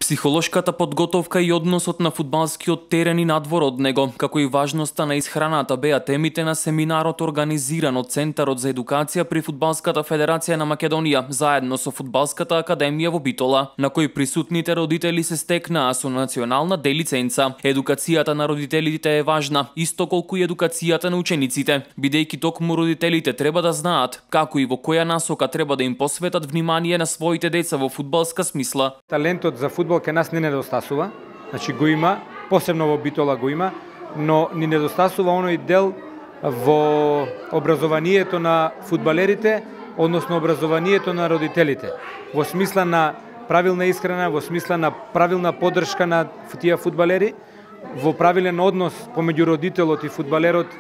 Психолошката подготовка и односот на фудбалскиот терен и надвор од него, како и важноста на исхраната беа темите на семинарот организиран од Центарот за едукација при Фудбалската федерација на Македонија, заедно со Фудбалската академија во Битола, на кој присутните родители се стекнаа со национална Д лиценца. Едукацијата на родителите е важна, исто колку и едукацијата на учениците, бидејќи токму родителите треба да знаат како и во која насока треба да им посветат внимание на своите деца во фудбалска смисла. Талентот за фудбал ке нас не недостасува, значи го има, посебно во Битола го има, но ни недостасува оној дел во образованието на фудбалерите, односно образованието на родителите, во смисла на правилна исхрана, во смисла на правилна поддршка на тие фудбалери, во правилен однос помеѓу родителот и фудбалерот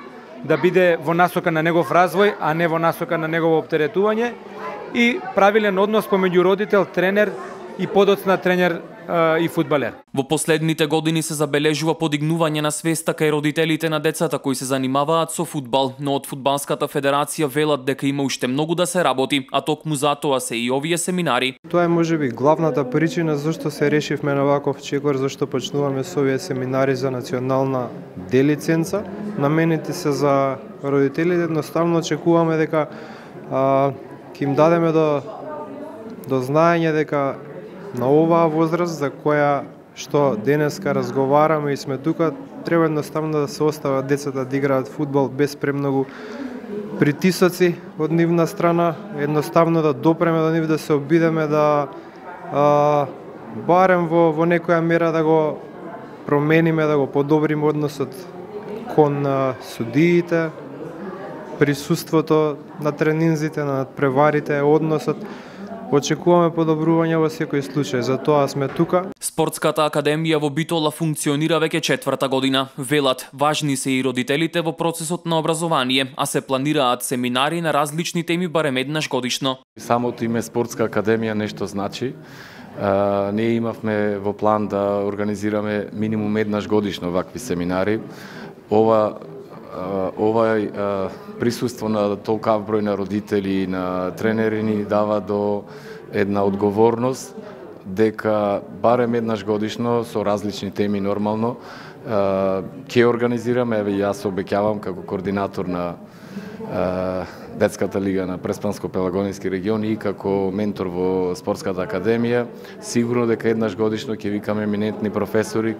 да биде во насока на негов развој, а не во насока на негово оптеретување, и правилен однос помеѓу родител, тренер и подоцна тренер и фудбалер. Во последните години се забележува подигнување на свеста кај родителите на децата кои се занимаваат со фудбал, но од Фудбалската федерација велат дека има уште многу да се работи, а токму затоа се и овие семинари. Тоа е можеби главната причина зашто се решивме на ваков чекор, зашто почнуваме со овие семинари за национална Д лиценца. Наменети се за родителите, едноставно очекуваме дека ќе им дадеме до знаење дека на оваа возраст за која што денеска разговараме и сме тука, треба едноставно да се остават децата да играат фудбал без премногу притисоци од нивна страна, едноставно да допреме до нив, да се обидеме да барем во некоја мера да го промениме, да го подобриме односот кон судиите, присуството на тренинзите, на надпреварите, односот. Очекуваме подобрување во секој случај, затоа сме тука. Спортската академија во Битола функционира веќе 4-та година. Велат, важни се и родителите во процесот на образование, а се планираат семинари на различни теми барем еднаш годишно. Самото име Спортска академија нешто значи. Ние имавме во план да организираме минимум еднаш годишно вакви семинари. Ова присуство на толкав број на родители и на тренери ни дава до една одговорност дека барем еднаш годишно со различни теми нормално ќе организираме, еве јас обеќавам како координатор на Детската лига на Преспанско-Пелагонски регион и како ментор во Спортската академија, сигурно дека еднаш годишно ќе викаме еминентни професори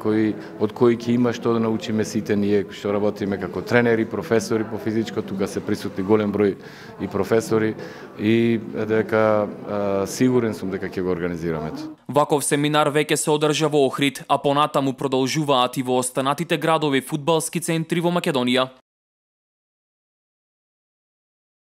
од кои ќе има што да научиме сите ние што работиме како тренери, професори по физичко, тука се присутни голем број и професори и дека сигурен сум дека ќе го организираме. Ваков семинар веќе се одржа во Охрид, а понатаму продолжуваат и во останатите градови фудбалски центри во Македонија.